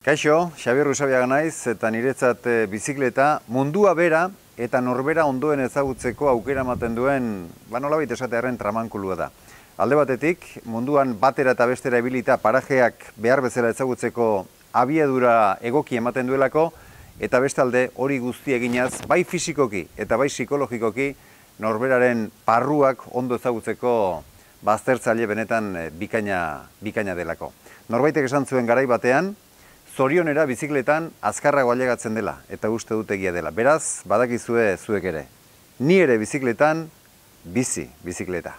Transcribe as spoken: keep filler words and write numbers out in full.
Kaixo, Xabier Usabiaga naiz eta niretzat bizikleta mundua bera eta norbera ondoen ezagutzeko aukera ematen duen, ba nolabait esatearren tramankulua da. Alde batetik, munduan batera eta bestera ibilita parajeak behar bezala ezagutzeko abiadura egoki ematen duelako, eta bestalde hori guzti eginaz, bai fisikoki eta bai psikologikoki norberaren parruak ondo ezagutzeko baztertzaile benetan bikaina, bikaina delako. Norbaitek esan zuen garai batean, zorionera bizikletan azkarrago ailegatzen dela, eta uste dut egia dela. Beraz, badakizue zuek ere. Ni ere bizikletan, bizi bizikleta.